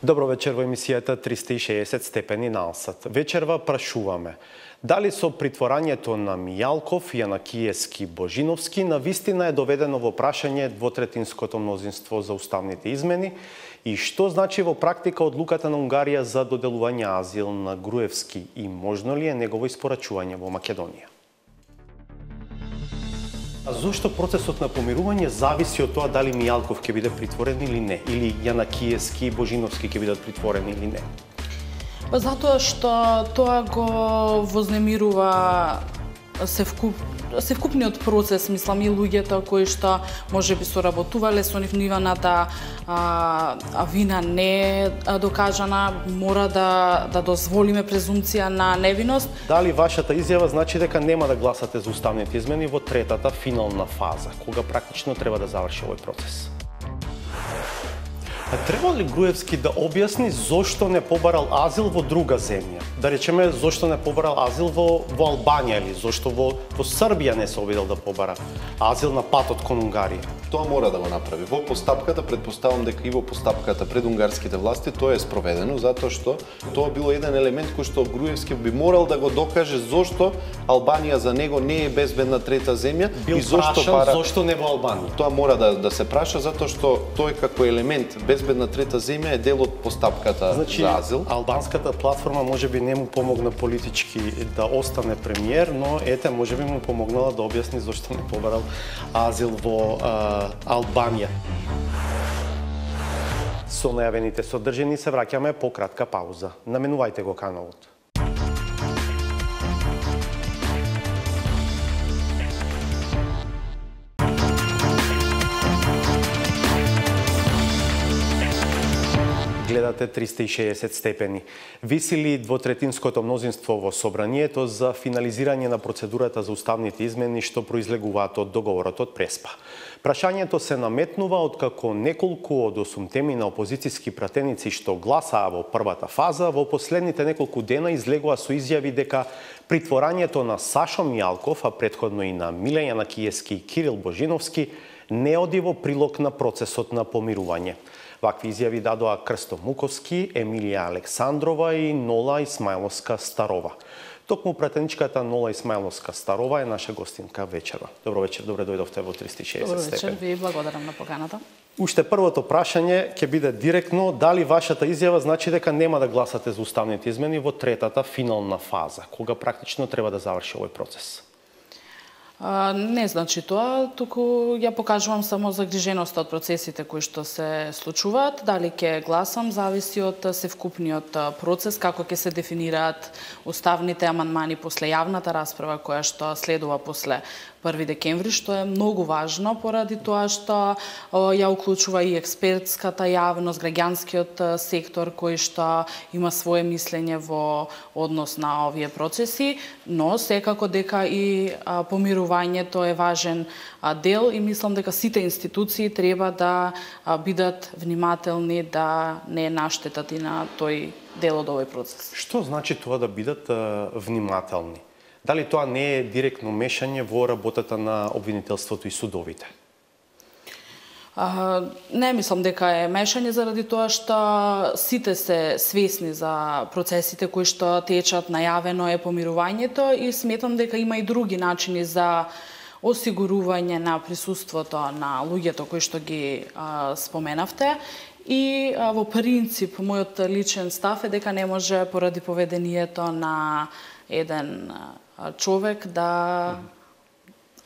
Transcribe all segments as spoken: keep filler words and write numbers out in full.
Добро вечер во емисијата триста и шеесет степени налсат. Вечерва прашуваме дали со притворањето на Мијалков, Јанакиевски, Божиновски на вистина е доведено во прашање двотретинското мнозинство за уставните измени и што значи во практика одлуката на Унгарија за доделување азил на Груевски и можно ли е негово испорачување во Македонија? А зошто процесот на помирување зависи од тоа дали Мијалков ќе биде притворен или не, или Јанакиевски и Божиновски ќе бидат притворени или не? Па затоа што тоа го вознемирува севкуп, севкупниот процес, мислам, и луѓето кои што можеби соработувале со нив, нивната а, а вина не е докажана, мора да, да дозволиме презумција на невиност. Дали вашата изјава значи дека нема да гласате за уставните измени во третата финална фаза, кога практично треба да заврши овој процес? А треба ли Груевски да објасни зошто не побарал азил во друга земја? Да речеме, зошто не побарал азил во, во Албанија или зошто во, во Србија не се обидел да побара азил на патот кон Унгарија? Тоа мора да го направи. Во постапката, предпоставам дека и во постапката пред унгарските власти тоа е спроведено, затоа што тоа било еден елемент кој што Груевски би морал да го докаже зошто Албанија за него не е безбедна трета земја Бил и зошто прашал, пара... зошто не во Албанија? Тоа мора да, да се праша затоа што тој како елемент безбедна трета земја е дел од постапката значи, за азил. Албанската платформа можеби не му помогна политички да остане премиер, но ете можеби му помогнала да објасни зошто не побарал азил во а, Албанија. Со најавените содржини се враќаме по кратка пауза. Наменувајте го каналот. Гледате триста и шеесет степени. Виси ли двотретинското мнозинство во собранието за финализирање на процедурата за уставните измени што произлегуваат од договорот од Преспа? Прашањето се наметнува откако неколку од осумтеми на опозицијски пратеници што гласаа во првата фаза во последните неколку дена излегува со изјави дека притворањето на Сашо Мијалков, а претходно и на Миле Јанакиевски и Кирил Божиновски не оди во прилог на процесот на помирување. Вакви изјави дадоа Крсто Муковски, Емилија Александрова и Нола Исмајловска Старова. Токму пратеничката Нола Исмајловска Старова е наша гостинка вечерва. Добро вечер, добре дојдовте во триста и шеесет степени. Добро вечер, ви благодарам на поканата. Уште првото прашање ќе биде директно дали вашата изјава значи дека нема да гласате за уставните измени во третата финална фаза, кога практично треба да заврши овој процес? А, не значи тоа, туку ја покажувам само загриженоста од процесите кои што се случуваат. Дали ќе гласам зависи од севкупниот процес, како ќе се дефинираат уставните амандмани после јавната расправа која што следува после први декември, што е многу важно поради тоа што ја уклучува и експертската јавност, граѓанскиот сектор кој што има свое мислење во однос на овие процеси, но секако дека и помирувањето е важен дел и мислам дека сите институции треба да бидат внимателни да не наштетат и на тој дел од овој процес. Што значи тоа да бидат внимателни? Дали тоа не е директно мешање во работата на обвинителството и судовите? А, не мислам дека е мешање заради тоа што сите се свесни за процесите кои што течат, најавено е помирувањето и сметам дека има и други начини за осигурување на присуството на луѓето кои што ги а, споменавте. И а, во принцип, мојот личен став е дека не може поради поведението на еден човек да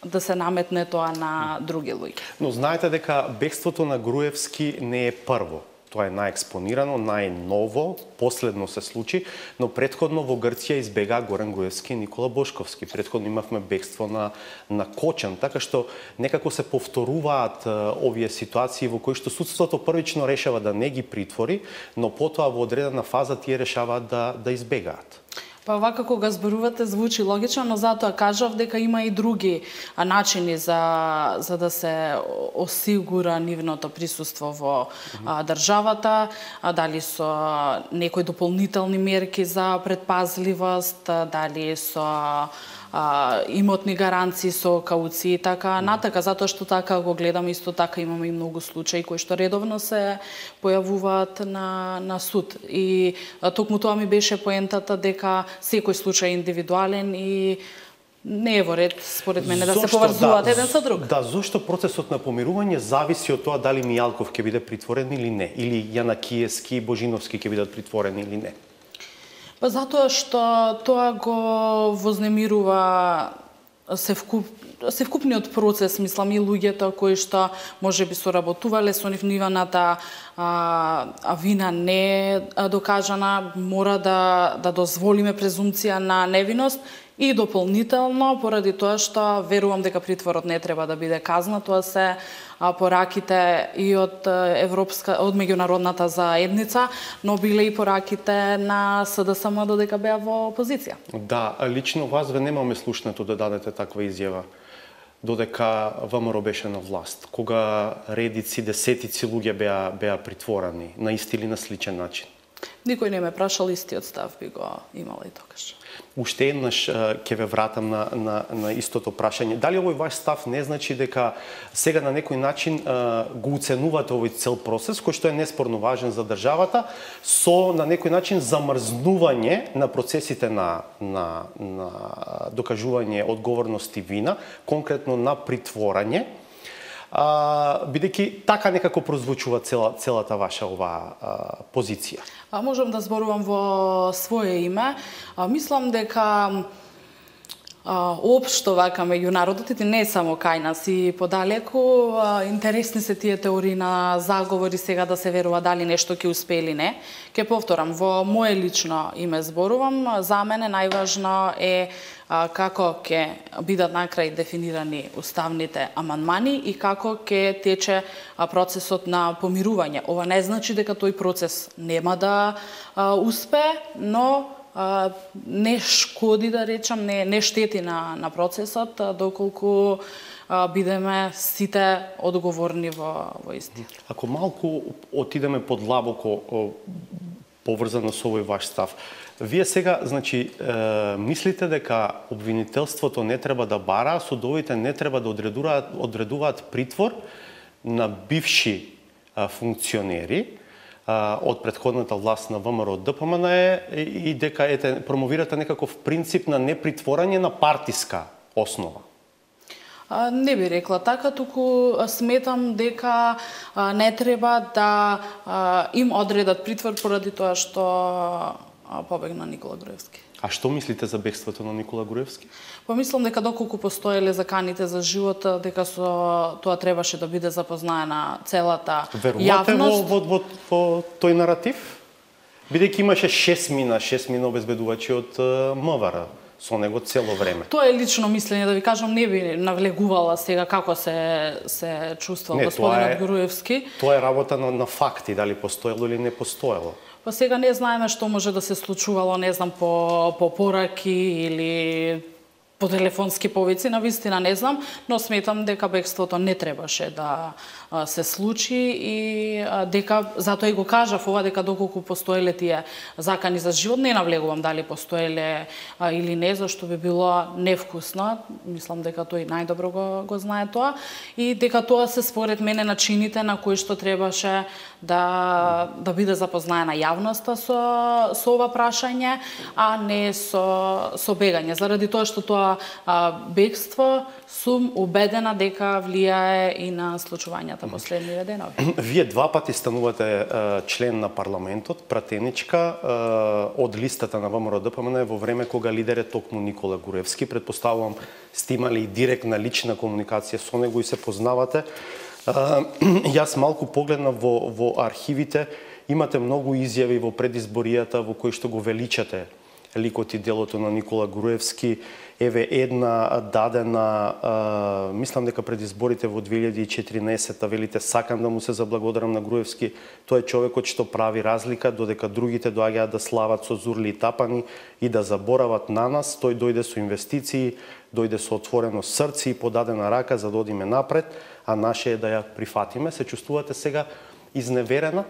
да се наметне тоа на други луѓе. Но знаете дека бегството на Груевски не е прво. Тоа е најекспонирано, најново, последно се случи, но претходно во Грција избега Горан Груевски и Никола Бошковски. Претходно имавме бегство на на Кочан, така што некако се повторуваат а, овие ситуации во кои што судството првично решава да не ги притвори, но потоа во одредена фаза тие решаваат да да избегаат. Па вака кога зборувате звучи логично, но затоа кажав дека има и други начини за за да се осигура нивното присуство во а, државата, а, дали со некои дополнителни мерки за предпазливост, дали со а, имотни гаранции со кауции, така натака, затоа што така го гледаме, исто така имаме и многу случаи кои што редовно се појавуваат на, на суд. И а, токму тоа ми беше поентата дека секој случај е индивидуален и не е во ред, според мене, да се поврзуваат да, еден со друг. Да, зошто процесот на помирување зависи од тоа дали Мијалков ќе биде притворен или не, или Јанакиевски и Божиновски ќе бидат притворени или не? Па затоа што тоа го вознемирува севкуп, севкупниот процес, мислам, и луѓето кои што можеби соработувале со нив, нивната а, а вина не е докажана, мора да, да дозволиме презумција на невиност. И дополнително, поради тоа што верувам дека притворот не треба да биде казна, тоа се пораките и од Европска, од меѓународната заедница, но биле и пораките на СДСМ додека беа во опозиција. Да, лично вас ве немаме слушнато да дадете таква изјава додека ВМРО беше на власт, кога редици, десетици луѓе беа беа притворени на ист или на сличен начин. Никој не ме прашал, истиот став би го имала и тогаш. Уште еднаш ќе ве вратам на, на, на истото прашање. Дали овој ваш став не значи дека сега на некој начин го уценувате овој цел процес, кој што е неспорно важен за државата, со на некој начин замрзнување на процесите на, на, на докажување одговорност и вина, конкретно на притворање, а, бидејќи така некако прозвучува цела, целата ваша ова а, позиција? А, можам да зборувам во свое име. А, мислам дека а, општо вака меѓу народите, не само кај нас и подалеку, а, интересни се тие теории на заговори сега да се верува дали нешто ќе успее или не. Ке повторам, во мое лично име зборувам, за мене најважно е а, како ќе бидат на крај дефинирани уставните амандмани и како ќе тече а, процесот на помирување. Ова не значи дека тој процес нема да а, успее, но а, не шкоди, да речам, не, не штети на, на процесот, а, доколку а, бидеме сите одговорни во, во исти. Ако малку отидеме подлабоко поврзано со овој ваш став, вие сега, значи, е, мислите дека обвинителството не треба да бара, судовите не треба да одредуваат, одредуваат притвор на бивши а, функционери а, од претходната власт на ВМРО Д П М Н и, и дека ете, промовирате некаков принцип на непритворање на партиска основа? А, не би рекла така, туку сметам дека а, не треба да а, им одредат притвор поради тоа што а, побегна Никола Груевски. А што мислите за бегството на Никола Груевски? Помислам дека доколку постоеле заканите за живот, дека со тоа требаше да биде запознаена целата Верувате јавност. во, во, во, во тој наратив? Бидејќи имаше шест мина, шест мина обезбедувачи од МВР со него цело време. Тоа е лично мислење, да ви кажам, не би навлегувала сега како се се чувствувал господинот е, Груевски. Тоа е работа на, на факти, дали постоело или не постоело. Па сега не знаеме што може да се случувало, не знам, по, по пораки или по телефонски повици, на вистина не знам, но сметам дека бегството не требаше да а, се случи и а, дека, затоа и го кажав ова, дека доколку постоеле тие закани за живот, не навлегувам дали постоеле а, или не, зашто би било невкусно, мислам дека тој најдобро го, го знае тоа, и дека тоа се според мене начините на кои што требаше да, да биде запознаена јавноста со, со ова прашање, а не со, со бегање, заради тоа што тоа А, бегство, сум убедена дека влијае и на случувањата последниве денови. Вие два пати станувате е, член на парламентот, пратеничка е, од листата на ВМРО Д П М Н во време кога лидер е токму Никола Груевски. Предпоставувам сте имали и директна лична комуникација со него и се познавате. Е, јас малку погледнав во, во архивите, имате многу изјави во предизборијата во кои што го величате ликот и делото на Никола Груевски. Еве една дадена, а, мислам дека пред изборите во две илјади и четиринаесетта, велите, сакам да му се заблагодарам на Груевски, тој е човекот што прави разлика, додека другите доаѓаат да слават со зурли и тапани и да заборават на нас, тој дојде со инвестиции, дојде со отворено срце и подадена рака за да одиме напред, а наше е да ја прифатиме. Се чувствувате сега изневерена?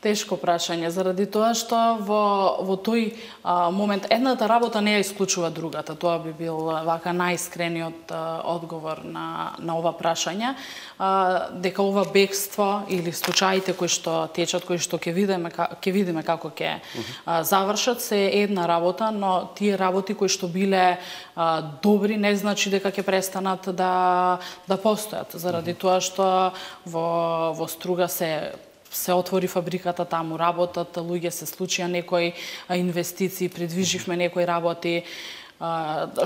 Тешко прашање, заради тоа што во, во тој а, момент едната работа не ја исклучува другата. Тоа би бил вака најискрениот а, одговор на, на ова прашање. А, дека ова бегство или случаите кои што течат, кои што ќе видиме, ќе видиме како ќе а, завршат, се една работа, но тие работи кои што биле а, добри не значи дека ќе престанат да, да постојат. Заради тоа што во, во Струга се се отвори фабриката, таму работат луѓе, се случија некои инвестиции, придвиживме некои работи,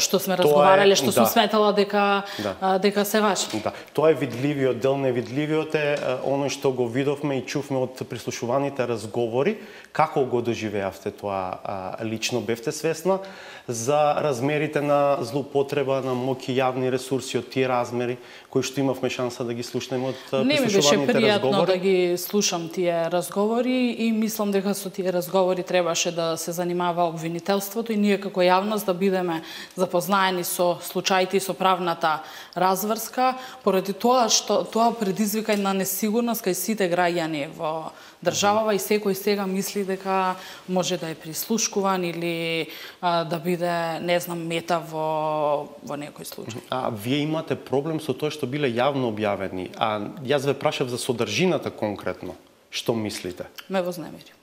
што сме разговарале, што сум сметала дека да. дека се важи. Да. Тоа е видливиот дел, невидливиот е оној што го видовме и чувме од прислушуваните разговори. Како го доживеавте тоа лично? Бевте свесна за размерите на злоупотреба на моќ и јавни ресурси од тие размери кои што имавме шанса да ги слушнеме од прислушуваните разговори? Не ми беше пријатно да ги слушам тие разговори и мислам дека со тие разговори требаше да се занимава обвинителството и ние како јавност да бидеме запознаени со случаите и со правната разврска, поради тоа што тоа предизвика една несигурност кај сите граѓани во државава и секој сега мисли дека може да е прислушкуван или а, да биде, не знам, мета во, во некој случај. А вие имате проблем со тоа што биле јавно објавени, а јас ве прашав за содржината конкретно. Што мислите? Ме вознемири.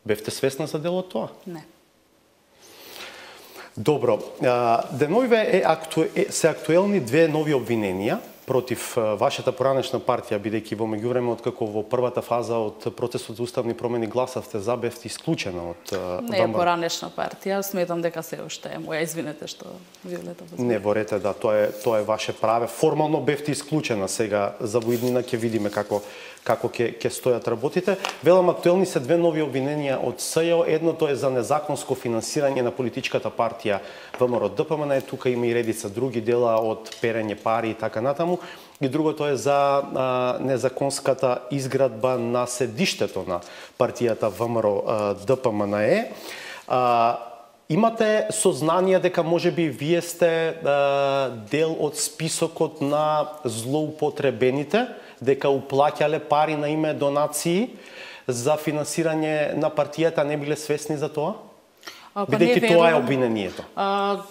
Бевте свесна за дел од тоа? Не. Добро, деновиве е акту... се актуелни две нови обвиненија против вашата поранешна партија, бидејќи во меѓувреме откако во првата фаза од процесот за уставни промени гласавте за, бевте исклучена од Не е поранешна партија, сметам дека се уште е моја, извинете што Виолета возможно. Не борете, да, тоа е тоа е ваше праве. Формално бевте исклучена, сега за воиднина ќе видиме како како ќе ќе стојат работите. Велам, актуелни се две нови обвиненија од СЈО. Едното е за незаконско финансирање на политичката партија ВМРО Д П М Н, тука има и редица други дела од перење пари и така натаму. И другото е за а, незаконската изградба на седиштето на партијата ВМРО Д П М Н. А, имате сознание дека можеби вие сте а, дел од списокот на злоупотребените, дека уплаќале пари на име донации за финансирање на партијата, не биле свесни за тоа? Па бидејќи тоа е обвинението. А,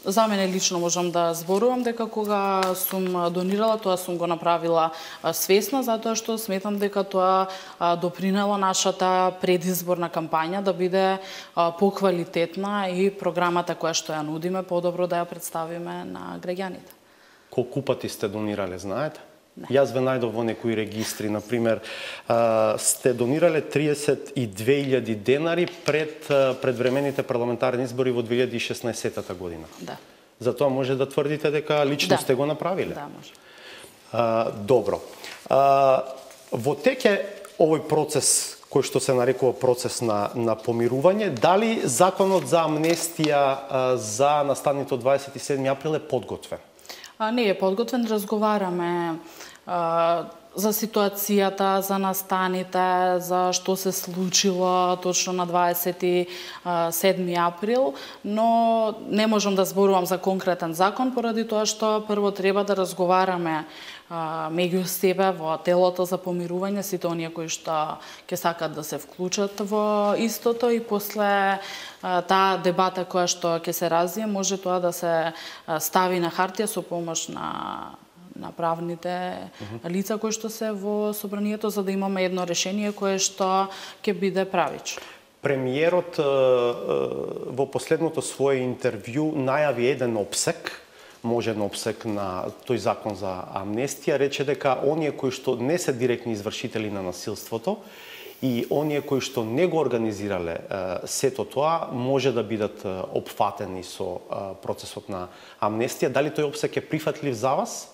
за мене лично можам да зборувам дека кога сум донирала, тоа сум го направила свесно, затоа што сметам дека тоа допринело нашата предизборна кампања да биде поквалитетна и програмата која што ја нудиме подобро да ја представиме на граѓаните. Колку пати сте донирале, знаете? Не. Јас ве најдов во некои регистри, например, сте донирале триесет и две илјади денари пред предвремените парламентарни избори во две илјади и шеснаесетта година. Да. Затоа може да тврдите дека лично да. сте го направиле? Да, може. А, добро. А, во теке овој процес кој што се нарекува процес на, на помирување, дали законот за амнестија а, за настаните од дваесет и седми април е подготвен? А, не е подготвен, разговараме а, за ситуацијата, за настаните, за што се случило точно на дваесет и седми април, но не можам да зборувам за конкретен закон, поради тоа што прво треба да разговараме а, меѓу себе во телото за помирување, сите оние кои што ќе сакат да се вклучат во истото и после а, таа дебата која што ќе се развие, може тоа да се стави на хартија со помош на на правните uh-huh. лица кои што се во собранието, за да имаме едно решение кое што ќе биде правично. Премиерот во последното свое интервју најави еден опсек, можен опсек на тој закон за амнестија, рече дека оние кои што не се директни извршители на насилството и оние кои што не го организирале сето тоа, може да бидат опфатени со процесот на амнестија. Дали тој опсек е прифатлив за вас?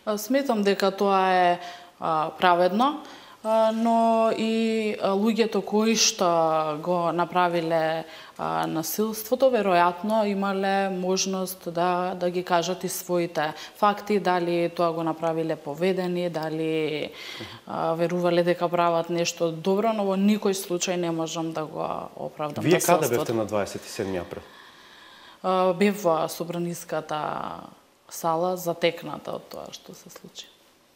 Сметам дека тоа е а, праведно, а, но и луѓето кои што го направиле а, насилството, веројатно имале можност да, да ги кажат и своите факти, дали тоа го направиле поведени, дали а, верувале дека прават нешто добро, но во никој случај не можам да го оправдам. Вие каде бевте на дваесет и седми април? А, бев во собраниската сала затекната од тоа што се случи.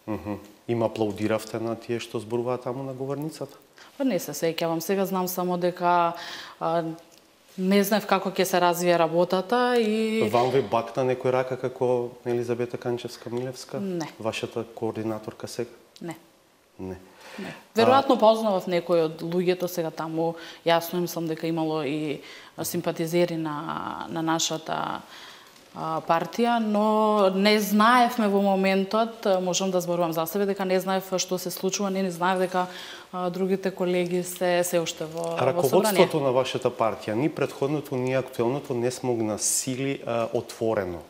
Uh-huh. Им аплаудиравте на тие што зборуваат таму на говорницата? Па не се сеќавам. Сега знам само дека а, не знаев како ќе се развие работата и... Вам ви бакна некој рака како Елизабета Канчевска-Милевска? Не. Вашата координаторка сега? Не. Не. Не. Веројатно познавав некој од луѓето сега таму. Јасно мислам дека имало и симпатизери на, на нашата а, партија, но не знаевме во моментот, можам да зборувам за себе, дека не знаев што се случува, не, не знаев дека а, другите колеги се се уште во, во собрание. Раководството на вашата партија, ни претходното, ни актуелното не смогна сили а, отворено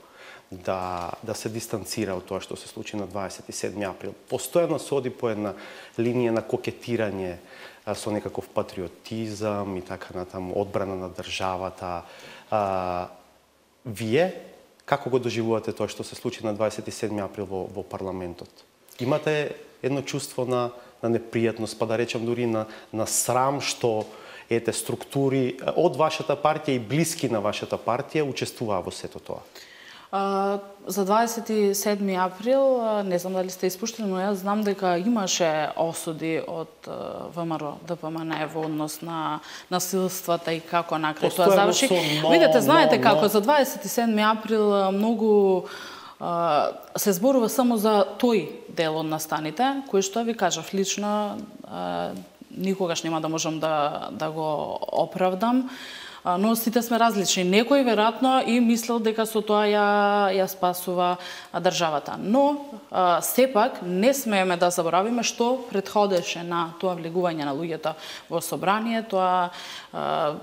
да, да се дистанцира од тоа што се случи на дваесет и седми април. Постојано се оди по една линија на кокетирање а, со некаков патриотизам и така натаму, одбрана на државата. А, вие, како го доживувате тоа што се случи на дваесет и седми април во, во парламентот? Имате едно чувство на, на непријатност, па да речем дури на, на срам што ете структури од вашата партија и блиски на вашата партија учествуваа во сето тоа? Uh, за дваесет и седми април, не знам дали сте испуштили, но јас знам дека имаше осуди од uh, ВМРО ДПМН во однос на насилствата и како на крај тоа заврши. Видете, знаете но, како, но... за дваесет и седми април многу uh, се зборува само за тој дел од настаните, кој што ви кажав лично, uh, никогаш нема да можам да, да го оправдам. Но сите сме различни. Некој веројатно и мислел дека со тоа ја, ја спасува државата. Но а, сепак не смееме да заборавиме што претходеше на тоа влегување на луѓето во собрание, тоа а,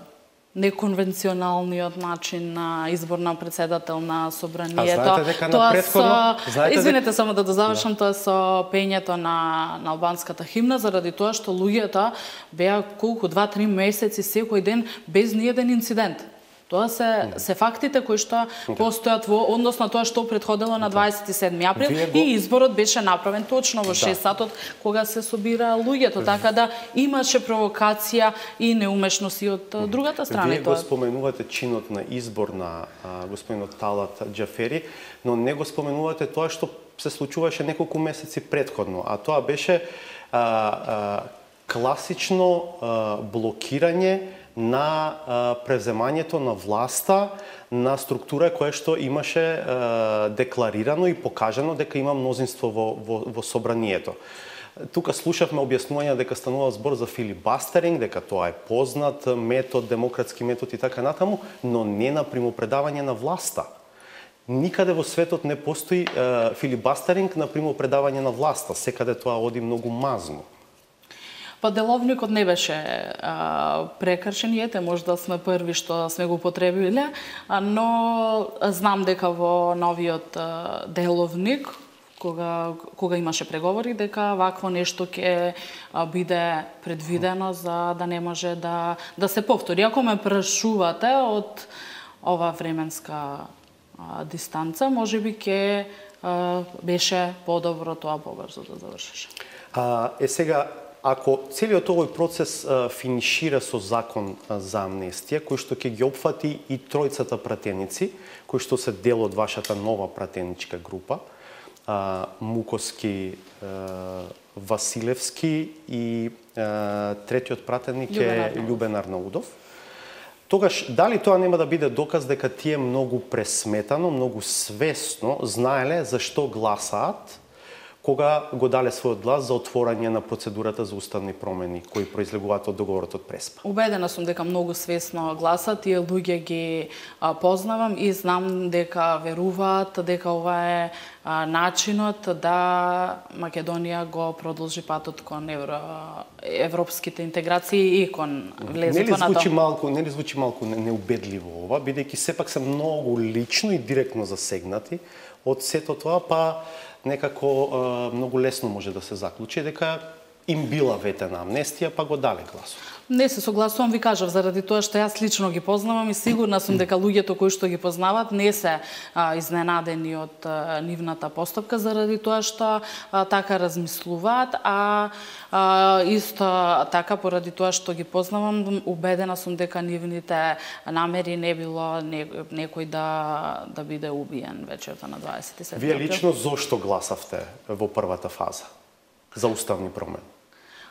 неконвенционалниот начин на избор на председател на собранието. А знаете дека тоа на предходно... со... Знаете Извинете дека... само да дозавршам, да. Тоа со пењето на, на албанската химна, заради тоа што луѓето беа колку, два-три месеци секој ден без ниеден инцидент. Тоа се, mm. се фактите кои што okay. постојат во однос на тоа што претходело на дваесет и седми април го... и изборот беше направен точно во шест да. сатот кога се собира луѓето, така да имаше провокација и неумешност и од mm. другата страна. Вие тоа... го споменувате чинот на избор на а, господинот Талат Џафери, но не го споменувате тоа што се случуваше неколку месеци претходно, а тоа беше а, а, класично а, блокирање на а, превземањето на власта на структура која што имаше а, декларирано и покажано дека има мнозинство во, во, во собранието. Тука слушавме објаснување дека станува збор за филибастеринг, дека тоа е познат метод, демократски метод и така натаму, но не на примопредавање на власта. Никаде во светот не постои а, филибастеринг на примопредавање на власта, секаде тоа оди многу мазно. Па деловникот не беше а, прекршен, ете, можда сме први што сме го потребиле, а, но знам дека во новиот а, деловник, кога, кога имаше преговори, дека вакво нешто ќе биде предвидено за да не може да, да се повтори. Ако ме прашувате од ова временска а, дистанца, можеби ќе а, беше подобро тоа побрзо да завршеше. А, е сега, ако целиот овој процес а, финишира со закон а, за амнестија, кој што ќе ги опфати и тројцата пратеници, кои што се дел од вашата нова пратеничка група, а, Муковски, а, Василевски и а, третиот пратеник е Љубен Арнаудов. Тогаш, дали тоа нема да биде доказ дека тие многу пресметано, многу свесно знаеле за што гласаат, кога го дале својот глас за отворање на процедурата за уставни промени кои произлегуваат од договорот од Преспа? Убедена сум дека многу свесно гласат, тие луѓе ги а, познавам и знам дека веруваат дека ова е а, начинот да Македонија го продолжи патот кон евро, европските интеграции и кон влезот на звучи малку, не ли звучи малку неубедливо ова, бидејќи сепак се многу лично и директно засегнати од сето тоа, па некако а, многу лесно може да се заклучи дека им била ветена амнестија, па го дале гласот. Не се согласувам, ви кажав, заради тоа што јас лично ги познавам и сигурна сум дека луѓето кои што ги познават не се а, изненадени од а, нивната постапка, заради тоа што а, така размислуваат, а, а исто така поради тоа што ги познавам, убедена сум дека нивните намери не било не, некој да да биде убиен вечерта на дваесет и седми април. Вие лично зошто гласавте во првата фаза? за уставни промени?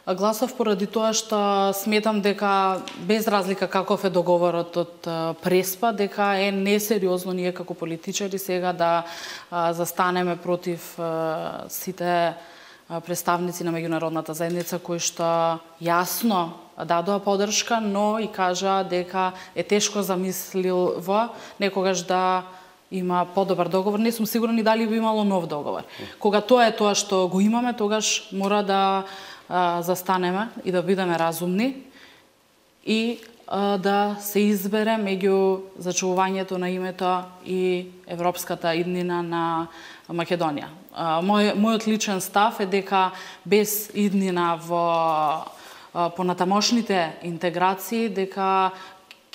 Гласав поради тоа што сметам дека без разлика каков е договорот од Преспа, дека е несериозно ние како политичари сега да застанеме против сите представници на меѓународната заедница кои што јасно дадоа поддршка, но и кажа дека е тешко замисливо некогаш да има подобар договор. Не сум сигурна и дали би имало нов договор. Кога тоа е тоа што го имаме, тогаш мора да а, застанеме и да бидеме разумни и а, да се избере меѓу зачувувањето на името и европската иднина на Македонија. А, мој, мојот личен став е дека без иднина во а, понатамошните интеграции, дека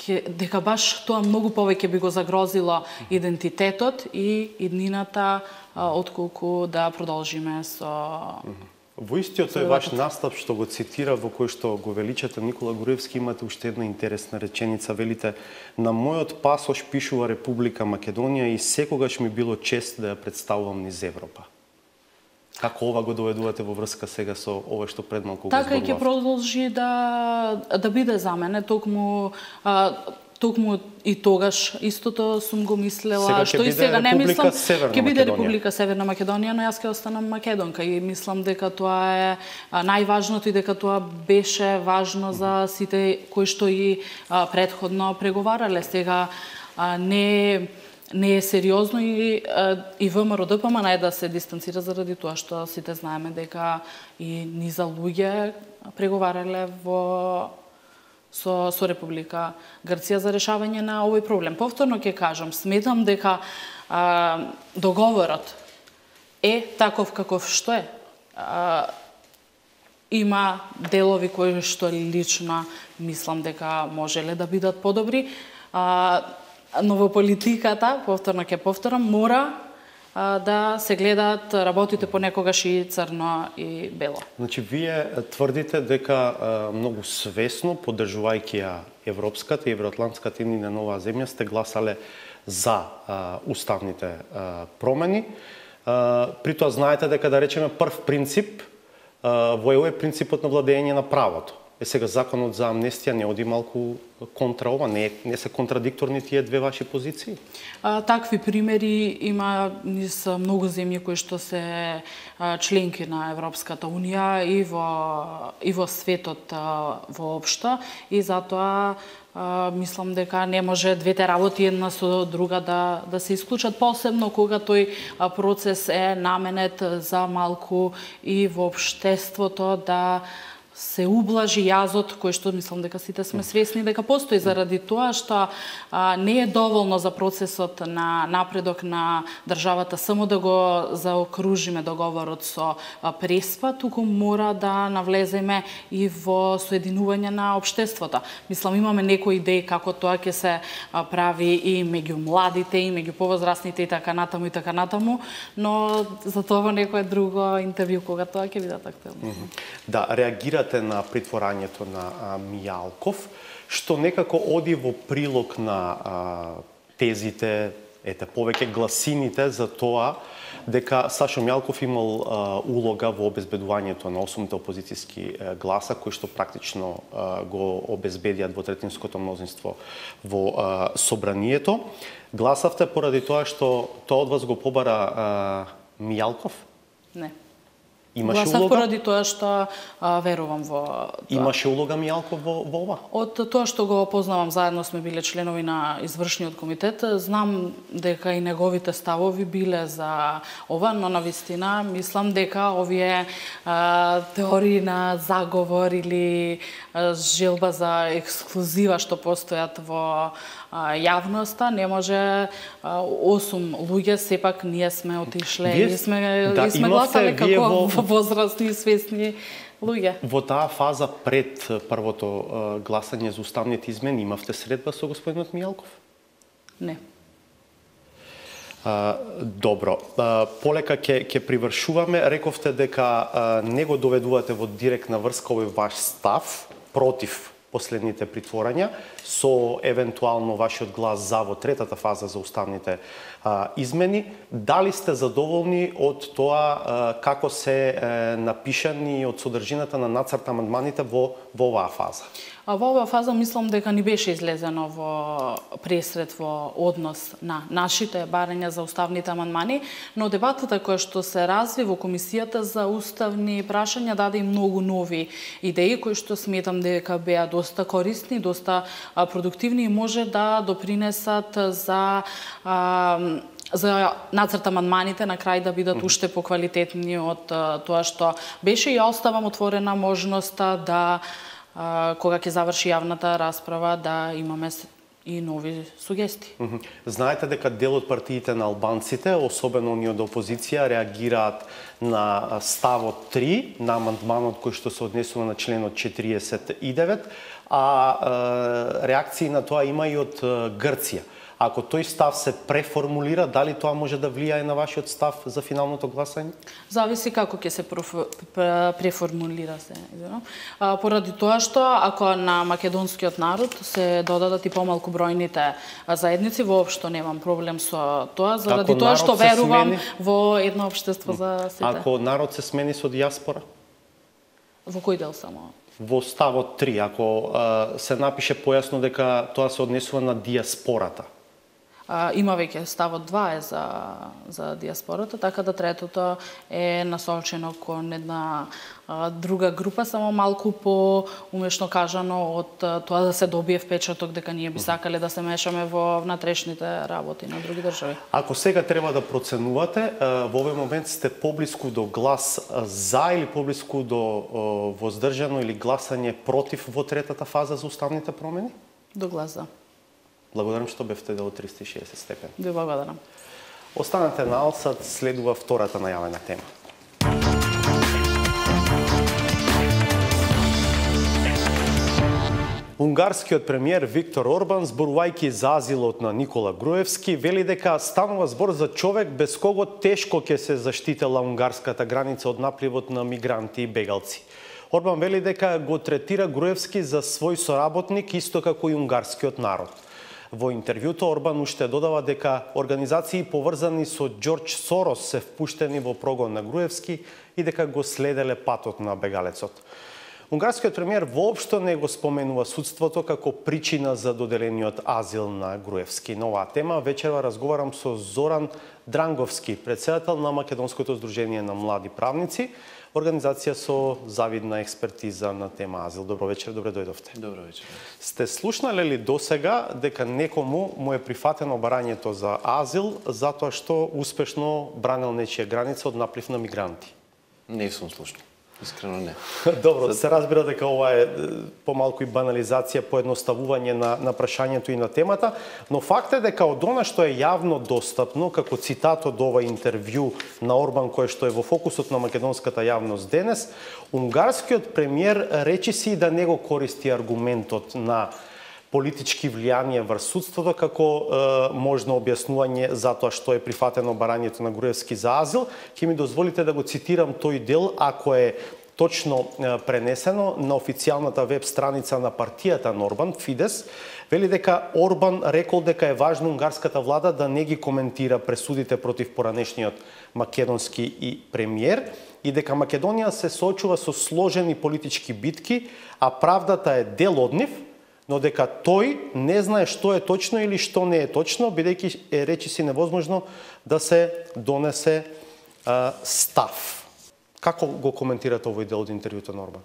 дека баш тоа многу повеќе би го загрозило идентитетот и иднината, отколку да продолжиме со... Во истиот тој ваш настап што го цитира, во кој што го величате Никола Груевски, имате уште една интересна реченица, велите: на мојот пасош пишува Република Македонија и секогаш ми било чест да ја представувам низ Европа. Како ова го доведувате во врска сега со ова што пред малку го зборував? Така и ќе продолжи да да биде за мене, токму а, токму и тогаш истото сум го мислела, сега што и сега не мислам, ќе биде Македонија. Република Северна Македонија, но јас ќе останам македонка и мислам дека тоа е најважното и дека тоа беше важно за сите кои што и а, предходно преговарале. Сега а, не не е сериозно и и ВМРО Д П М Н е да се дистанцира заради тоа што сите знаеме дека и низа луѓе преговарале во со со Република Грција за решавање на овој проблем. Повторно ќе кажам, сметам дека а, договорот е таков каков што е. А, има делови кои што лично мислам дека можеле да бидат подобри. А, но во политиката, повторно ќе повторам, мора а, да се гледаат работите понекогаш и црно и бело. Значи, вие тврдите дека а, многу свесно, поддржувајќи ја европската и евроатлантската иднина на оваа земја, сте гласале за а, уставните а, промени. А, при тоа знаете дека, да речеме, прв принцип а, во ЕУ е принципот на владење на правото. Е, сега законот за амнестија не оди малку контра ова? Не, не се контрадикторни тие две ваши позиции? А, такви примери има низ многу земји кои што се а, членки на Европската Унија и во, и во светот а, воопшто, и затоа а, мислам дека не може двете работи една со друга да, да се исклучат, посебно кога тој а, процес е наменет за малку и во општеството да се ублажи јазот кој што мислам дека сите сме свесни дека постои, заради тоа што а, не е доволно за процесот на напредок на државата само да го заокружиме договорот со а, Преспа, туку мора да навлеземе и во соединување на општеството. Мислам, имаме некои идеи како тоа ќе се а, прави и меѓу младите, и меѓу повозрастните и така натаму и така натаму, но за тоа некое друго интервју кога тоа ќе бидат актуелно. Mm -hmm. Да, реагирате на притворањето на а, Мијалков, што некако оди во прилог на а, тезите, ете, повеќе гласините за тоа дека Сашо Мијалков имал а, улога во обезбедувањето на осумте опозицијски а, гласа, кои што практично а, го обезбедија двотретинското мнозинство во а, собранието. Гласавте поради тоа што тоа од вас го побара а, Мијалков? Не. Имаше Гласав улога? поради тоа што а, верувам во тоа. Имаше улога Мијалков во, во ова? Од тоа што го опознавам, заедно сме биле членови на извршниот комитет, знам дека и неговите ставови биле за ова, но навистина мислам дека овие а, теории на заговор или а, желба за ексклузива што постојат во а, јавноста, не може а, осум луѓе, сепак ние сме отишле Вие, и сме, да, и сме гласале како во... возрастни и свесни луѓе. Во таа фаза пред првото гласање за уставните измени имавте средба со господинот Мијалков? Не. А, добро. А, полека ќе ќе привршуваме. Рековте дека а, не го доведувате во директна врска овој ваш став против последните притворања, со евентуално вашиот глас за во третата фаза за уставните а, измени. Дали сте задоволни од тоа а, како се е, напишани од содржината на нацрт амандманите во, во оваа фаза? А во оваа фаза мислам дека ни беше излезено во пресред во однос на нашите барања за уставните амандмани, но дебатата која што се разви во Комисијата за уставни прашања даде и многу нови идеи кои што сметам дека беа доста корисни, доста продуктивни и може да допринесат за а, за нацрт амандманите на крај да бидат уште поквалитетни од тоа што беше, и ја оставам отворена можноста да кога ќе заврши јавната расправа да имаме и нови сугестии. Знаете дека дел од партиите на албанците, особено оние од опозиција, реагираат на ставот три на амандманот кој што се однесува на членот четириесет и девет, а реакции на тоа има и од Грција. Ако тој став се преформулира, дали тоа може да влијае на вашиот став за финалното гласање? Зависи како ќе се преформулира се. Поради тоа што ако на македонскиот народ се додадат и помалку бројните заедници, воопшто немам проблем со тоа, заради тоа што верувам смени... во едно општество за сите. Ако народ се смени со диаспора? Во кој дел само? Во ставот три, ако а, се напише појасно дека тоа се однесува на диаспората. Има веќе ставот два е за, за диаспората, така да третото е насочено кон една а, друга група, само малку по умешно кажано од тоа да се добие впечаток дека ние би сакале да се мешаме во внатрешните работи на други држави. Ако сега треба да проценувате, во овој момент сте поблиску до глас за или поблиску до воздржано или гласање против во третата фаза за уставните промени? До глас за. Благодарам што бевте дел од триста и шеесет степен. Ви благодарам. Останете на Алсат, следува втората најавена тема. Унгарскиот премиер Виктор Орбан, зборувајќи за азилот на Никола Груевски, вели дека станува збор за човек без кого тешко ќе се заштитела унгарската граница од напливот на мигранти и бегалци. Орбан вели дека го третира Груевски за свој соработник, исто како и унгарскиот народ. Во интервјуто Орбан уште додава дека организации поврзани со Џорџ Сорос се впуштени во прогон на Груевски и дека го следеле патот на бегалецот. Унгарскиот премиер воопшто не го споменува судството како причина за доделениот азил на Груевски. На оваа тема вечерва разговарам со Зоран Дранговски, претседател на Македонското здружение на млади правници, организација со завидна експертиза на тема азил. Добро вечер, добре дојдовте. Добро вечер. Сте слушнале ли досега дека некому му е прифатено барањето за азил затоа што успешно бранел нечија граница од наплив на мигранти? Не сум слушнал. Искрено не. Добро, се разбира дека ова е помалку и банализација, поедноставување на, на прашањето и на темата, но факт е дека од она што е јавно достапно, како цитат од ова интервју на Орбан, кој што е во фокусот на македонската јавност денес, унгарскиот премиер речиси да не го користи аргументот на политички влијание врз судството како е, можно објаснување за тоа што е прифатено барањето на Груевски за азил. Ќе ми дозволите да го цитирам тој дел, ако е точно е, пренесено на официјалната веб страница на партијата на Орбан, Фидес, вели дека Орбан рекол дека е важно унгарската влада да не ги коментира пресудите против поранешниот македонски и премиер и дека Македонија се соочува со сложени политички битки, а правдата е дел од нив, но дека тој не знае што е точно или што не е точно, бидејќи е речиси невозможно да се донесе а, став. Како го коментирате овој дел од интервјуто на Орбан?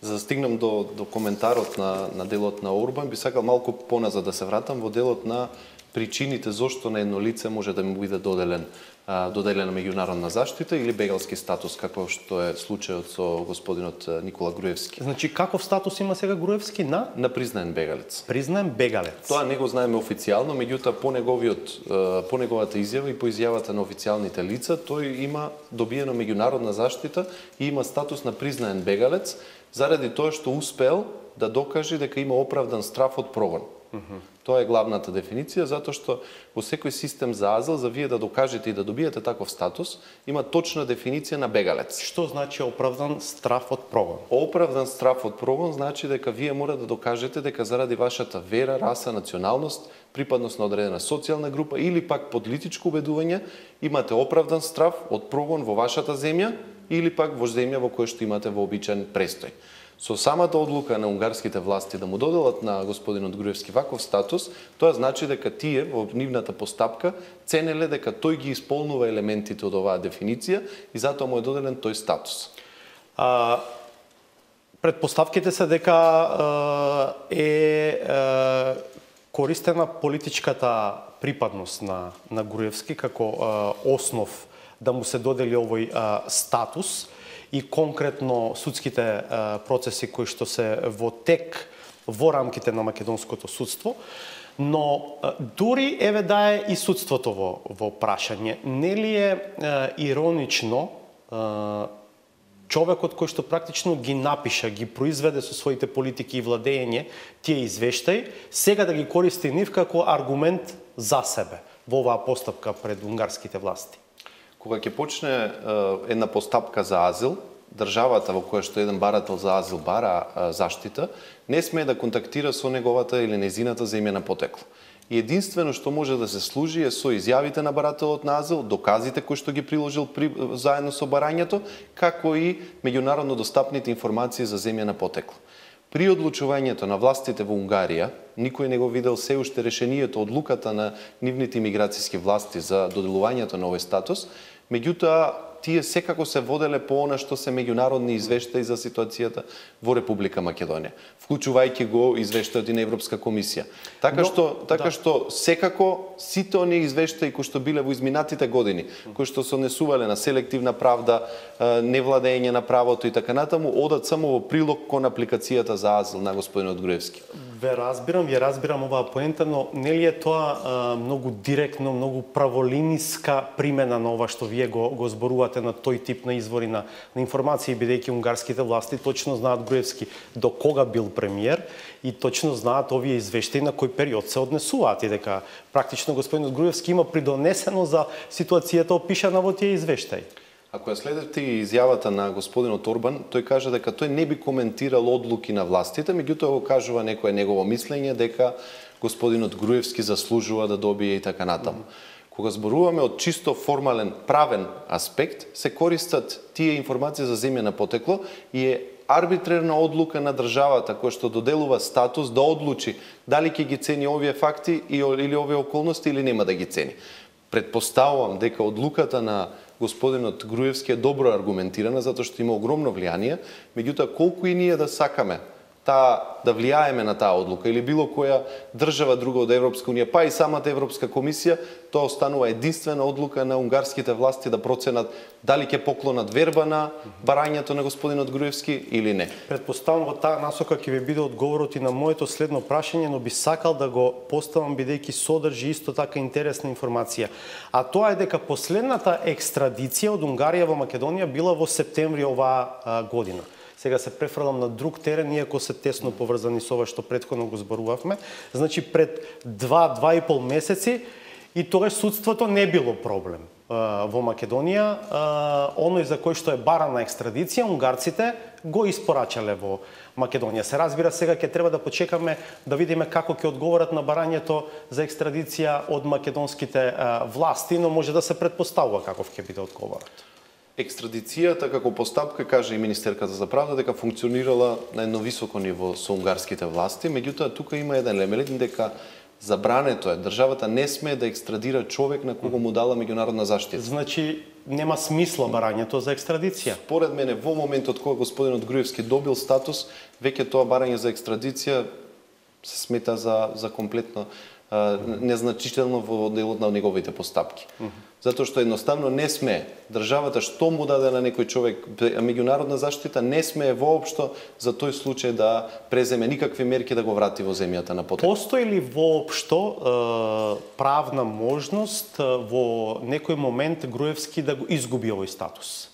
За да стигнам до, до коментарот на, на делот на Орбан, би сакал малку поназад да се вратам во делот на причините зошто на едно лице може да му биде доделен доделена меѓународна заштита или бегалски статус, како што е случајот со господинот Никола Груевски. Значи, каков статус има сега Груевски на? На признаен бегалец. Признаен бегалец. Тоа не го знаеме официјално, меѓутоа по неговиот по неговата изјава и по изјавата на официјалните лица, тој има добиено меѓународна заштита и има статус на признаен бегалец заради тоа што успел да докаже дека има оправдан страф од прогон. Mm-hmm. Тоа е главната дефиниција, затоа што во секој систем за азил, за вие да докажете и да добиете таков статус, има точна дефиниција на бегалец. Што значи оправдан страф од прогон? Оправдан страф од прогон значи дека вие мора да докажете дека заради вашата вера, раса, националност, припадност на одредена социјална група или пак политичко убедување, имате оправдан страф од прогон во вашата земја или пак во земја во која што имате вообичаен престој. Со самата одлука на унгарските власти да му доделат на господинот Груевски ваков статус, тоа значи дека тие во нивната постапка ценеле дека тој ги исполнува елементите од оваа дефиниција и затоа му е доделен тој статус. А, предпоставките се дека е, е користена политичката припадност на, на Груевски како а, основ да му се додели овој а, статус и конкретно судските а, процеси кои што се во тек во рамките на македонското судство, но а, дури еве да е и судството во, во прашање, нели е а, иронично а, човекот кој што практично ги напиша, ги произведе со своите политики и владење тие извештаи, сега да ги користи нив како аргумент за себе во оваа постапка пред унгарските власти? Кога ќе почне е, една постапка за азил, државата во која што еден барател за азил бара е, заштита, не смее да контактира со неговата или незината земја на потекло. И единствено што може да се служи е со изјавите на барателот на азил, доказите кои што ги приложил при, заедно со барањето, како и меѓународно достапните информации за земја на потекло. При одлучувањето на властите во Унгарија, никој не го видел се уште решението, одлуката на нивните имиграцијски власти за доделувањето на овој статус, меѓутоа тие секако се воделе по она што се меѓународни извештаи за ситуацијата во Република Македонија, вклучувајќи го извештајот и на Европска комисија. Така Но, што така да. што секако сите оние извештаи кои што биле во изминатите години, кои што се однесувале на селективна правда, невладење на правото и така натаму, одат само во прилог кон апликацијата за азил на господинот Груевски. Ве разбирам, ја разбирам оваа поента, но нели е тоа а, многу директно, многу праволиниска примена на ова што вие го, го зборувате на тој тип на извори на, на информации, бидејќи унгарските власти точно знаат Груевски до кога бил премиер и точно знаат овие извештаи на кој период се однесуваат и дека практично господинот Груевски има придонесено за ситуацијата опишана во тие извештаи. Ако ја следите и изјавата на господинот Орбан, тој кажа дека тој не би коментирал одлуки на властите, меѓутоа го кажува некое негово мислење дека господинот Груевски заслужува да добие и така натаму. Кога зборуваме од чисто формален правен аспект, се користат тие информации за земја на потекло и е арбитрерна одлука на државата која што доделува статус да одлучи дали ќе ги цени овие факти или овие околности или нема да ги цени. Предпоставувам дека одлуката на господинот Груевски е добро аргументирана затоа што има огромно влијание, меѓутоа колку и ние да сакаме таа да влијаеме на таа одлука или било која држава друга од Европска унија, па и самата Европска комисија, тоа останува единствена одлука на унгарските власти да проценат дали ќе поклонат верба на барањето на господинот Груевски или не. Предпоставам во таа насока ќе ви биде одговорот и на моето следно прашање, но би сакал да го поставам бидејќи содржи исто така интересна информација. А тоа е дека последната екстрадиција од Унгарија во Македонија била во септември оваа година. Сега се префрлам на друг терен, иако се тесно поврзани со ова што претходно го зборувавме. Значи пред два, два и пол месеци и тогаш судството не било проблем во Македонија. Оној за кој што е барана екстрадиција, унгарците го испорачале во Македонија. Се разбира, сега ќе треба да почекаме да видиме како ќе одговорат на барањето за екстрадиција од македонските власти, но може да се претпоставува каков ќе биде одговорот. Екстрадицијата како постапка, каже и Министерката за правда, дека функционирала на едно високо ниво со унгарските власти, меѓутоа тука има еден елемент дека забрането е, државата не смее да екстрадира човек на кого му дала меѓународна заштита. Значи нема смисла барањето за екстрадиција. Според мене во моментот кога господинот Груевски добил статус, веќе тоа барање за екстрадиција се смета за за комплетно незначително во делот на неговите постапки. Затоа што едноставно не смее државата што му даде на некој човек меѓународна заштита, не смее воопшто за тој случај да преземе никакви мерки да го врати во земјата на потекло. Постои ли воопшто е, правна можност во некој момент Груевски да го изгуби овој статус?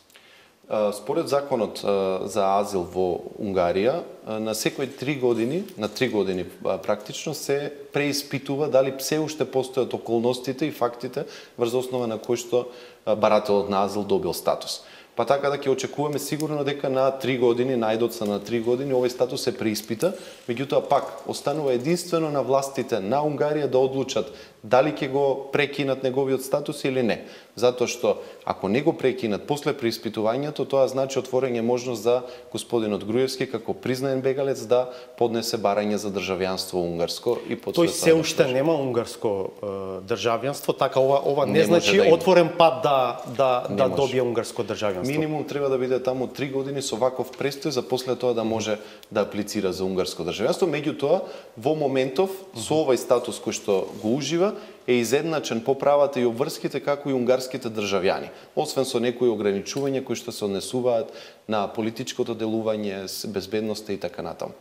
Според законот за азил во Унгарија, на секои три години, на три години практично се преиспитува дали се уште постојат околностите и фактите врз основа на кои што барателот на азил добил статус. Па така да ќе очекуваме сигурно дека на три години, најдоца на три години, овој статус се преиспита, меѓутоа пак останува единствено на властите на Унгарија да одлучат дали ќе го прекинат неговиот статус или не. Затоа што ако не го прекинат после преиспитувањето, тоа значи отворање можност за господинот Груевски како признаен бегалец да поднесе барање за државјанство унгарско и под тој се уште нема унгарско е, државјанство, така ова ова не, не значи да отворен пат да да не да може. Добие унгарско државјанство. Минимум треба да биде таму три години со ваков престој за после тоа да може да аплицира за унгарско државјанство. Меѓутоа, во моментов со овој статус кој што го ужива е изедначен по правата и обврските како и унгарските државјани, освен со некои ограничувања кои што се однесуваат на политичкото делување, безбедноста и така натаму.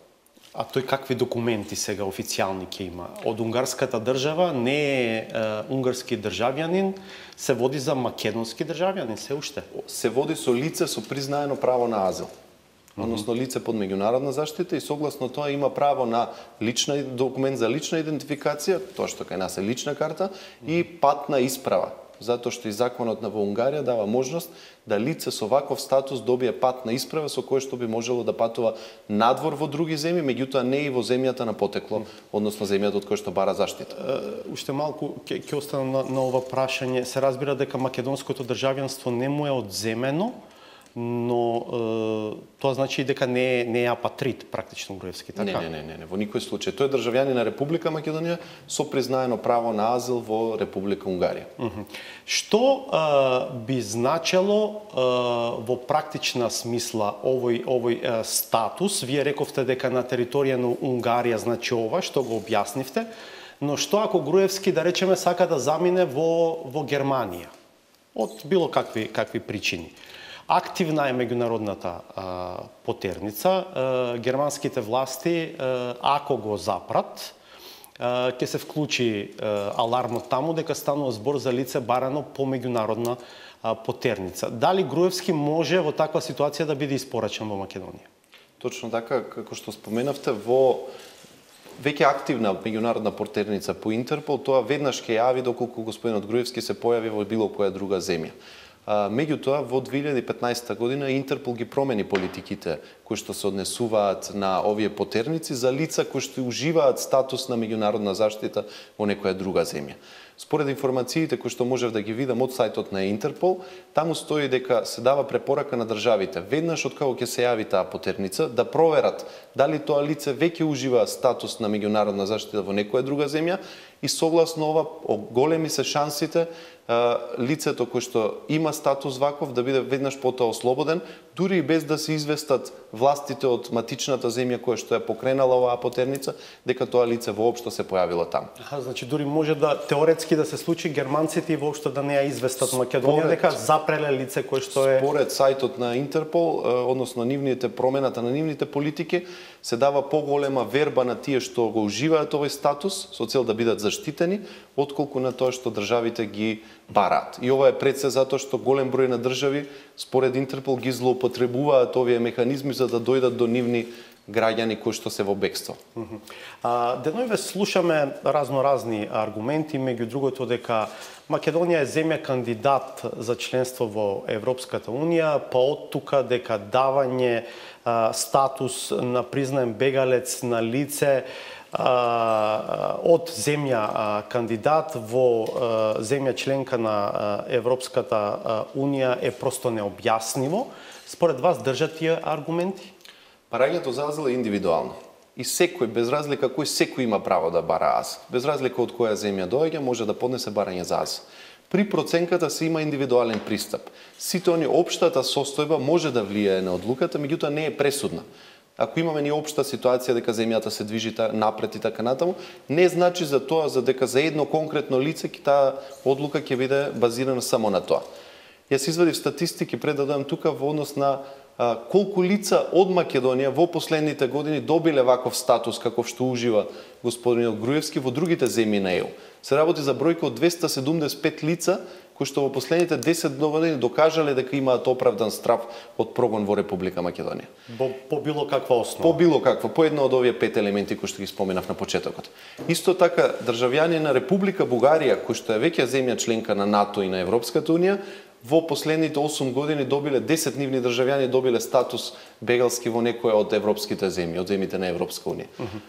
А тој какви документи сега официјални ќе има? Од унгарската држава не е, е унгарски државјанин, се води за македонски државјанин се уште? Се води со лице со признаено право на азил. Односно лице под меѓународна заштита и согласно тоа има право на лична документ за лична идентификација, тоа што кај нас е лична карта, и патна исправа. Затоа што и законот на во Унгарија дава можност да лице со ваков статус добие патна исправа со која што би можело да патува надвор во други земји, меѓутоа не и во земјата на потекло, односно земјата од која што бара заштита. Uh, уште малку ќе ќе останам на, на ова прашање. Се разбира дека македонското државјанство не му е одземено, но е, тоа значи дека не не е апатрид практично Груевски, така? Не, не, не, не, во никој случај. Тој е државјанин на Република Македонија со признаено право на азил во Република Унгарија. Uh -huh. Што е, би значело е, во практична смисла овој овој е, статус? Вие рековте дека на територија на Унгарија значи ова, што го објаснивте, но што ако Груевски, да речеме, сака да замине во во Германија од било какви какви причини? Активна е меѓународната а, потерница. А, германските власти, а, ако го запрат, а, ќе се вклучи а, алармот таму дека станува збор за лице барано по меѓународна а, потерница. Дали Груевски може во таква ситуација да биде испорачен во Македонија? Точно така, како што споменавте, во веќе активна меѓународна потерница по Интерпол, тоа веднаш ќе јави доколку господинот Груевски се појави во било која друга земја. Меѓутоа, во две илјади и петнаесетта година Интерпол ги промени политиките кои што се однесуваат на овие потерници за лица кои што уживаат статус на меѓународна заштита во некоја друга земја. Според информациите кои што можев да ги видам од сајтот на Интерпол, таму стои дека се дава препорака на државите веднаш од кога ќе се јави таа потерница да проверат дали тоа лице веќе ужива статус на меѓународна заштита во некоја друга земја и согласно ова големи се шансите лицето кој што има статус ваков да биде веднаш потоа ослободен, дури и без да се известат властите од матичната земја која што ја покренала оваа потерница, дека тоа лице воопшто се појавило таму. Аха, значи дури може да теоретски да се случи германците и воопшто да не ја известат Македонија дека запреле лице кое што е... Според сајтот на Интерпол, односно нивните промената на нивните политики, се дава поголема верба на тие што го уживаат овој статус со цел да бидат заштитени, отколку на тоа што државите ги бараат. И ова е пред се затоа што голем број на држави според Интерпол ги злоупотребуваат овие механизми за да дојдат до нивни граѓани кои што се во бегство. А, деноиве слушаме разноразни аргументи, меѓу другото дека Македонија е земја кандидат за членство во Европската Унија, па од тука дека давање а, статус на признаен бегалец на лице а, од земја а, кандидат во а, земја членка на а, Европската а, Унија е просто необјасниво. Според вас држат тие аргументи? Барањето за азил е индивидуално. И секој, без разлика кој, секој има право да бара азил. Без разлика од која земја доаѓа, може да поднесе барање за азил. При проценката се има индивидуален пристап. Сите они општата состојба може да влијае на одлуката, меѓутоа не е пресудна. Ако имаме ни општа ситуација дека земјата се движи напред и така натаму, не значи за тоа за дека за едно конкретно лице таа одлука ќе биде базирана само на тоа. Јас извадив статистики пред да дојдам тука во однос на а, колку лица од Македонија во последните години добиле ваков статус каков што ужива господинот Груевски во другите земји на Е У. Се работи за бројка од двесте седумдесет и пет лица кои што во последните десет години докажале дека имаат оправдан страв од прогон во Република Македонија. По, по било каква основа? По било каква, по едно од овие пет елементи кои што ги споменав на почетокот. Исто така, државјани на Република Бугарија, кои што е веќе земја членка на НАТО и на Европската унија, во последните осум години добиле десет нивни државјани добиле статус бегалски во некоја од европските земји, од земјите на Европска унија. Uh -huh.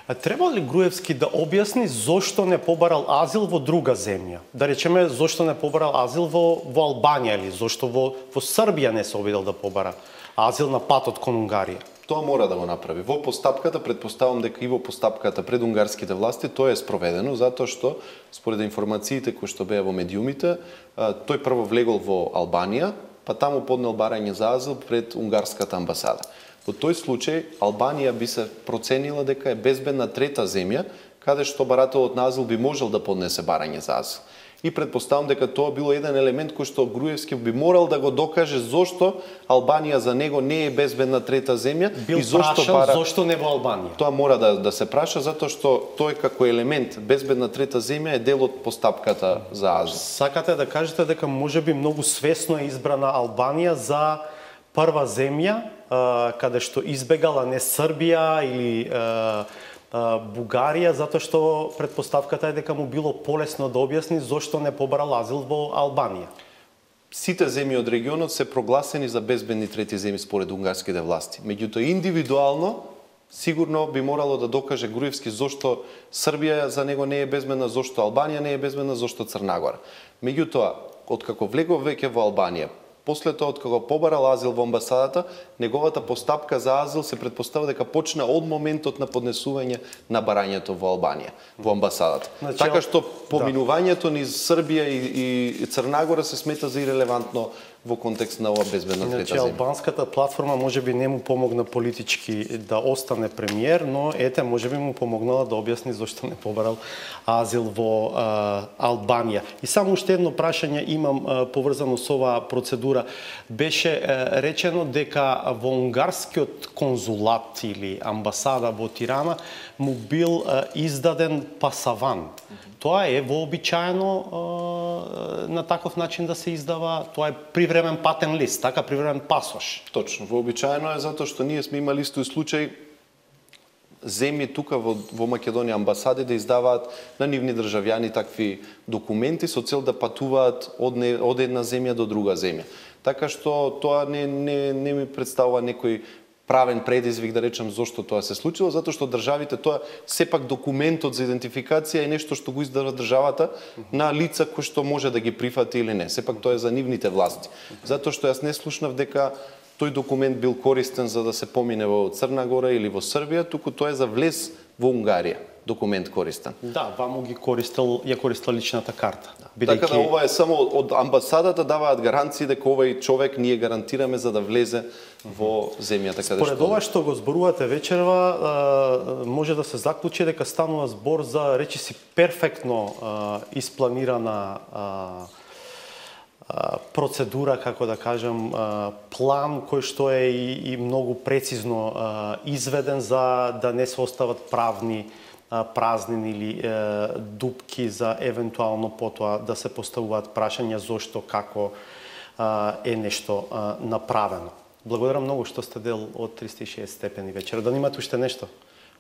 А треба ли Груевски да објасни зошто не побарал азил во друга земја? Да речеме, зошто не побарал азил во, во Албанија или зошто во, во Србија не се обидел да побара азил на патот кон Унгарија? Тоа мора да го направи. Во постапката, предпоставам дека и во постапката пред унгарските власти, тоа е спроведено, затоа што, според информациите кои што беа во медиумите, тој прво влегол во Албанија, па таму поднел барање за азил пред унгарската амбасада. Во тој случај, Албанија би се проценила дека е безбедна трета земја, каде што барателот на азил би можел да поднесе барање за азил. И предпоставам дека тоа било еден елемент кој што Груевски би морал да го докаже зошто Албанија за него не е безбедна трета земја бил и зошто прашал, бара... зошто не во Албанија. Тоа мора да, да се праша затоа што тој како елемент безбедна трета земја е дел од постапката за азил. Сакате да кажете дека можеби многу свесно е избрана Албанија за прва земја каде што избегала не Србија или Бугарија, затоа што предпоставката е дека му било полесно да објасни зошто не побарал азил во Албанија. Сите земји од регионот се прогласени за безбедни трети земји според унгарските власти. Меѓутоа индивидуално сигурно би морало да докаже Груевски зошто Србија за него не е безбедна, зошто Албанија не е безбедна, зошто Црна Гора. Меѓутоа, откако влегов веќе во Албанија, после тоа, откако побарал азил во амбасадата, неговата постапка за азил се предпоставува дека почна од моментот на поднесување на барањето во Албанија, во амбасадата. Значи, така што поминувањето низ Србија и, и Црна Гора се смета за ирелевантно во контекст на ова безбедна трета значи, земја. албанската платформа можеби не му помогна политички да остане премиер, но ете можеби му помогнала да објасни зошто не побарал азил во а, Албанија. И само уште едно прашање имам а, поврзано со оваа процедура. Беше а, речено дека во унгарскиот конзулат или амбасада во Тирана му бил а, издаден пасаван. Тоа е вообичаено на таков начин да се издава, тоа е привремен патен лист, така привремен пасош. Точно, вообичаено е затоа што ние сме имали истој случај земји тука во, во Македонија амбасади да издаваат на нивни државјани такви документи со цел да патуваат од, не, од една земја до друга земја. Така што тоа не, не, не ми представува некој правен предизвик да речам зошто тоа се случило, затоа што државите тоа сепак документот за идентификација е нешто што го издава државата на лица кои што може да ги прифати или не. Сепак тоа е за нивните власти. Затоа што јас не слушнав дека тој документ бил користен за да се помине во Црна Гора или во Србија, туку тоа е за влез во Унгарија. Документ користен. Да, ваму ги користел, ја користел личната карта. Бидејќи... Така да ова е само од амбасадата даваат гаранции дека овој човек ние гарантираме за да влезе во земјата каде што... Според ова што го зборувате вечерва, може да се заклучи дека станува збор за речиси перфектно испланирана процедура, како да кажам, план кој што е и, и многу прецизно изведен за да не се остават правни празнини или е, дупки за евентуално потоа да се поставуваат прашања зошто, како е, е нешто е, направено. Благодарам многу што сте дел од триста и шеесет степени вечер. Да немате уште нешто?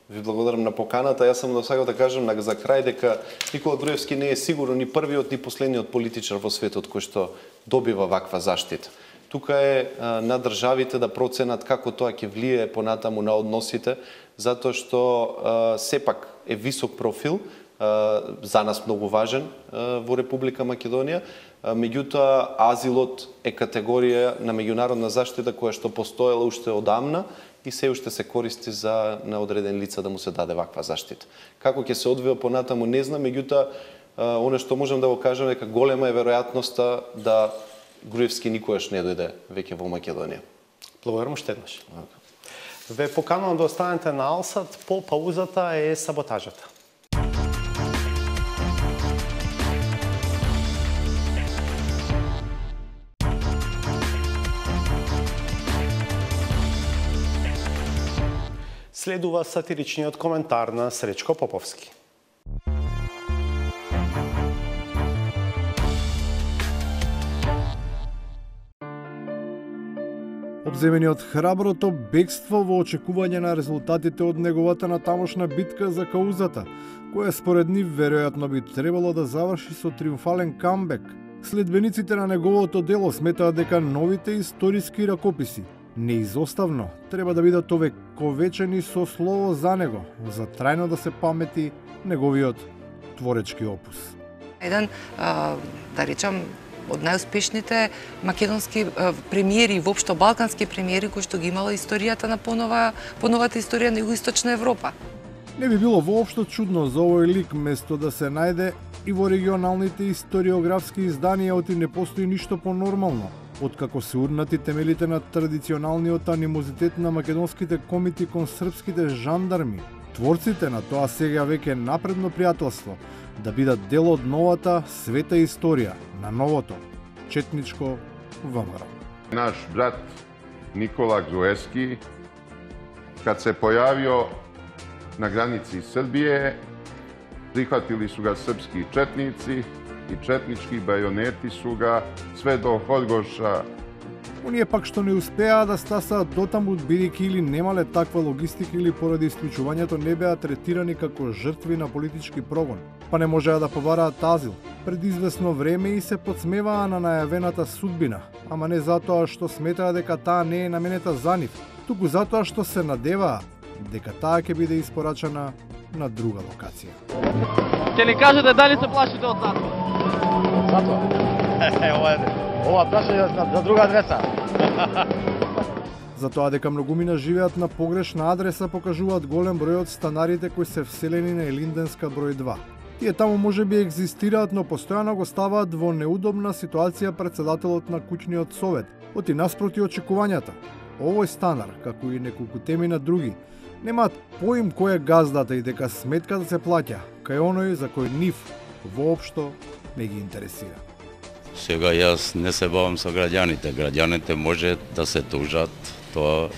Ви благодарам на поканата. Јас сам сакав да кажам за крај дека Никола Груевски не е сигурно ни првиот ни последниот политичар во светот кој што добива ваква заштита. Тука е а, на државите да проценат како тоа ќе влие понатаму на односите, затоа што а, сепак е висок профил, а, за нас многу важен а, во Република Македонија, а, меѓутоа азилот е категорија на меѓународна заштита која што постоела уште одамна и се уште се користи за на одреден лица да му се даде ваква заштита. Како ќе се одвива понатаму не знам, меѓутоа оно што можам да го кажам дека голема е веројатноста да Груевски никогаш не дојде веќе во Македонија. Благодарам уште еднаш. Ве поканувам да останете на Алсат, по паузата е саботажата. Следува сатиричниот коментар на Сречко Поповски. земени од храброто бегство во очекување на резултатите од неговата натамошна битка за каузата, која според нив веројатно би требало да заврши со триумфален камбек. Следбениците на неговото дело сметаат дека новите историски ракописи неизоставно треба да бидат овековечени со слово за него, за трајно да се памети неговиот творечки опус. Еден, да речам, од најуспешните македонски премиери, воопшто балкански премиери кои што ги имала историјата на понова, поновата историја на Југоисточна Европа. Не би било воопшто чудно за овој лик место да се најде и во регионалните историографски изданија, оти не постои ништо понормално, откако се урнати темелите на традиционалниот анимозитет на македонските комити кон српските жандарми, творците на тоа сега веќе напредно пријателство, да бидат дел од новата света историја на новото четничко ВМРО. Наш брат Никола Груевски, кад се појавио на граници Србије, прихватили су го српски четници и четнички бајонети су га све до Хоргоша. Оние пак што не успеа да стасаат дотаму, бидејќи или немале таква логистика или поради исклучувањето не беа третирани како жртви на политички прогон, па не можеа да побараат азил. Пред известно време и се подсмеваа на најавената судбина, ама не затоа што сметаа дека таа не е наменета за нив, туку затоа што се надеваа дека таа ќе биде испорачана на друга локација. Ќе ни кажете дали се плашите од затвор? Затвор? Е, ова е, ова прашање за друга адреса. За тоа дека многумина живеат на погрешна адреса покажуваат голем број од станарите кои се вселени на Елинденска број два. Тие таму може би екзистираат, но постојано го ставаат во неудобна ситуација председателот на куќниот совет, оти наспроти очекувањата. Овој станар, како и неколку теми на други, немаат поим кој е газдата и дека сметката се плаќа, кај оној за кој нив воопшто не ги интересира. Сега јас не се бавам со граѓаните. Граѓаните може да се тужат, тоа...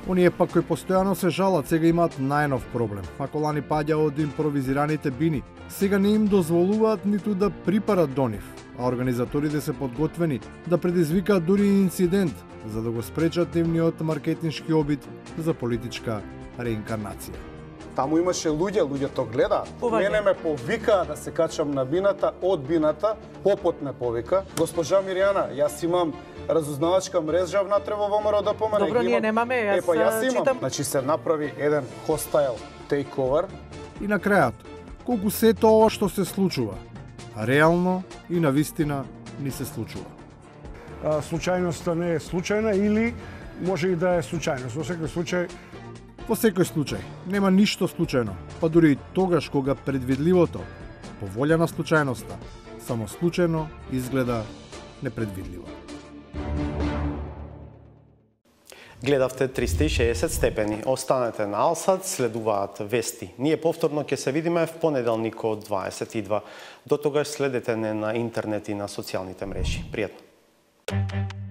Оние пак кои постојано се жалат, сега имаат најнов проблем. Ако лани паѓа од импровизираните бини, сега не им дозволуваат ниту да припарат до нив, а организаторите се подготвени да предизвикаат дури инцидент, за да го спречат нивниот маркетиншки обид за политичка реинкарнација. Таму имаше луѓе, луѓето гледаат. Мене ме повикаа да се качам на бината, од бината, попот ме повика. Госпожа Мирјана, јас имам разузнавачка мрежа внатре во ВМРО да помане. Добро, ние немаме, јас, е, па, јас имам. читам. Значи се направи еден хостайл тейковер. И на крајот, колку сето ова што се случува, реално и навистина ни се случува. Случајноста не е случајна или може и да е случајност. Во секој случај Во секој случај, нема ништо случајно, па дури и тогаш кога предвидливото, по волја на случајноста, само случајно изгледа непредвидливо. Гледавте триста и шеесет степени. Останете на Алсат, следуваат вести. Ние повторно ќе се видиме в понеделник од дваесет и два. До тогаш следете не на интернет и на социјалните мрежи. Пријатно.